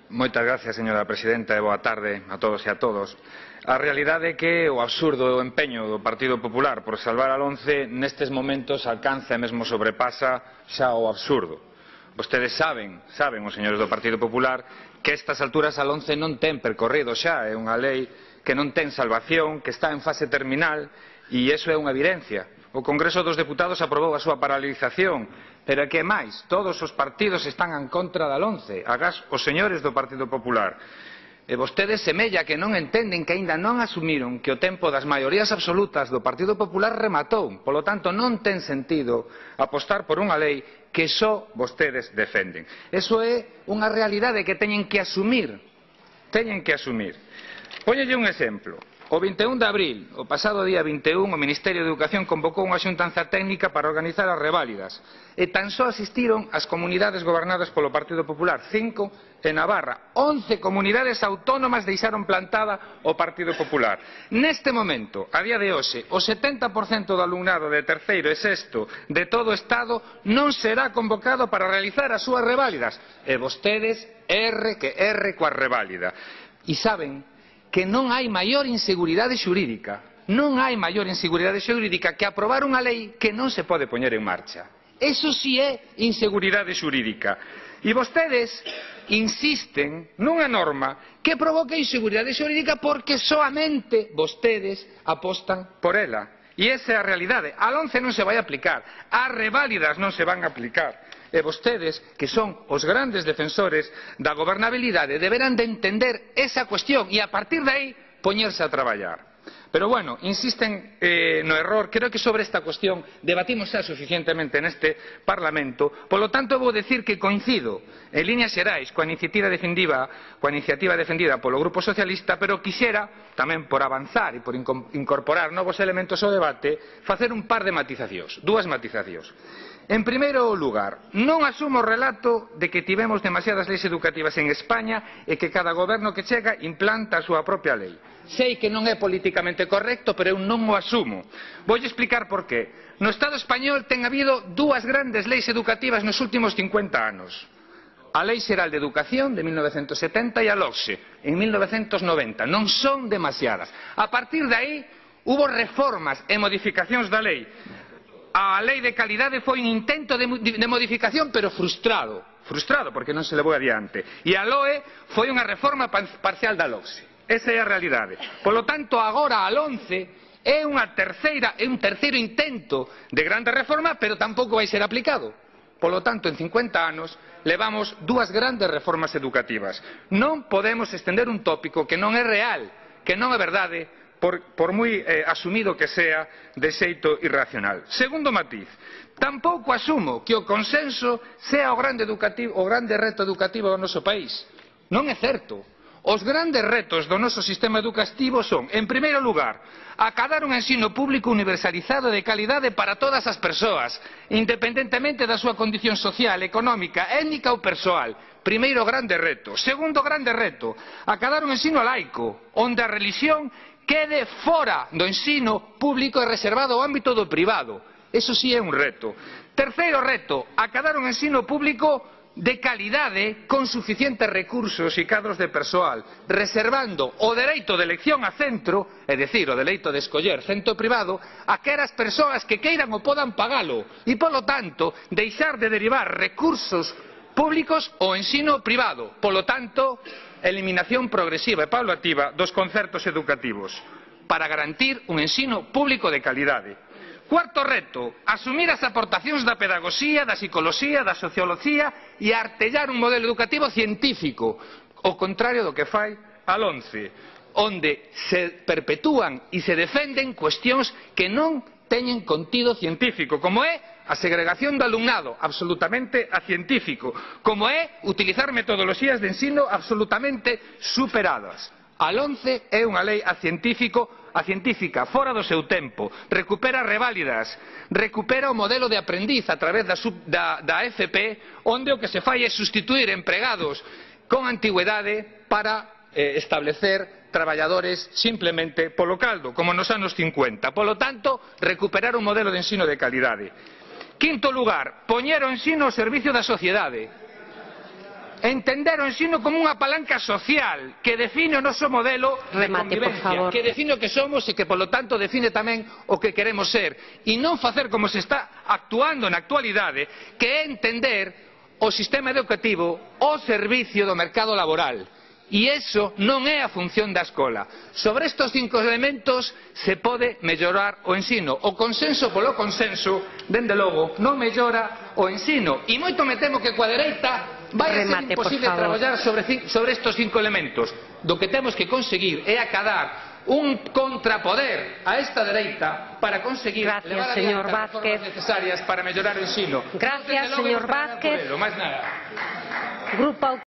Moitas gracias, señora presidenta, e boa tarde a todos e a todos. A realidade é que o absurdo e o empeño do Partido Popular por salvar a LOMCE nestes momentos alcanza e mesmo sobrepasa xa o absurdo. Vostedes saben, os señores do Partido Popular, que a estas alturas a LOMCE non ten percorrido xa, é unha lei que non ten salvación, que está en fase terminal, e iso é unha evidencia. O Congreso dos Deputados aprobou a súa paralización, pero é que máis, todos os partidos están en contra da LOMCE, agás os señores do Partido Popular. E vostedes semella que non entenden que aínda non asumiron que o tempo das maiorías absolutas do Partido Popular rematou. Polo tanto, non ten sentido apostar por unha lei que só vostedes defenden. Eso é unha realidade que teñen que asumir. Póñolle un exemplo. O 21 de abril, o pasado día 21, o Ministerio de Educación convocou unha xuntanza técnica para organizar as reválidas e tan só asistiron as comunidades gobernadas polo Partido Popular, 5 en Navarra. 11 comunidades autónomas deixaron plantada o Partido Popular. Neste momento, a día de hoxe, o 70% do alumnado de terceiro e sexto de todo o Estado non será convocado para realizar as súas reválidas. E vostedes, erre coa reválida. E saben que non hai maior inseguridade xurídica, que aprobar unha lei que non se pode poñer en marcha. Eso sí é inseguridade xurídica. E vostedes insisten nunha norma que provoca inseguridade xurídica porque soamente vostedes apostan por ela. E esa é a realidade. A LOMCE non se vai aplicar, as reválidas non se van a aplicar. E vostedes, que son os grandes defensores da gobernabilidade, deberán de entender esa cuestión e a partir de aí poñerse a traballar. Pero bueno, insisten no error. Creo que sobre esta cuestión debatimos xa suficientemente neste Parlamento. Polo tanto, vou decir que coincido en líneas xerais coa iniciativa defendida polo Grupo Socialista, pero quixera, tamén por avanzar e por incorporar novos elementos ao debate, facer un par de matizacións, dúas matizacións. En primeiro lugar, non asumo o relato de que tivemos demasiadas leis educativas en España e que cada goberno que chega implanta a súa propia lei. Sei que non é políticamente correcto, pero eu non o asumo. Voulle explicar por qué. No Estado español ten habido dúas grandes leis educativas nos últimos 50 anos. A Lei Xeral de Educación de 1970 e a LOGSE en 1990. Non son demasiadas. A partir de aí, hubo reformas e modificacións da lei. A lei de calidade foi un intento de modificación, pero frustrado, porque non se levou adiante. E a LOE foi unha reforma parcial da LOGSE. Esa é a realidade. Polo tanto, agora a LOMCE é un terceiro intento de grande reforma, pero tampouco vai ser aplicado. Polo tanto, en 50 anos, levamos dúas grandes reformas educativas. Non podemos estender un tópico que non é real, que non é verdade, por moi asumido que sea de xeito irracional. Segundo matiz, tampouco asumo que o consenso sea o grande reto educativo do noso país. Non é certo. Os grandes retos do noso sistema educativo son, en primeiro lugar, acadar un ensino público universalizado de calidade para todas as persoas, independentemente da súa condición social, económica, étnica ou persoal. Primeiro grande reto. Segundo grande reto, acadar un ensino laico, onde a relixión quede fora do ensino público e reservado ao ámbito do privado. Eso sí é un reto. Terceiro reto, acadar un ensino público de calidade con suficientes recursos e cadros de persoal, reservando o dereito de elección a centro, é dicir, o dereito de escoller centro privado, a aquelas persoas que queiran ou podan pagalo e, polo tanto, deixar de derivar recursos públicos ao ensino privado. Polo tanto, eliminación progresiva e paulativa dos concertos educativos para garantir un ensino público de calidade. Cuarto reto, asumir as aportacións da pedagogía, da psicoloxía, da socioloxía e artellar un modelo educativo científico, o contrario do que fai a LOMCE, onde se perpetúan e se defenden cuestións que non teñen contido científico, como é a segregación do alumnado, absolutamente acientífico, como é utilizar metodoloxías de ensino absolutamente superadas. A LOMCE é unha lei científica, fora do seu tempo, recupera reválidas, recupera o modelo de aprendiz a través da FP, onde o que se fai é sustituir empregados con antigüedade para establecer traballadores simplemente polo caldo, como nos anos 50. Polo tanto, recuperar un modelo de ensino de calidade. Quinto lugar, poñer o ensino ao servicio da sociedade. entender o ensino como unha palanca social que define o noso modelo de convivencia, que define o que somos e que, polo tanto, define tamén o que queremos ser. E non facer como se está actuando na actualidade, que é entender o sistema educativo ao servicio do mercado laboral. E iso non é a función da escola. Sobre estes 5 elementos se pode mellorar o ensino. O consenso polo consenso, dende logo, non mellora o ensino. E moito me temo que coa dereita vai a ser imposible traballar sobre estes 5 elementos. Do que temos que conseguir é acadar un contrapoder a esta dereita para conseguir levar adiante as reformas necesarias para mellorar o ensino. Gracias, señor Vázquez. Máis nada.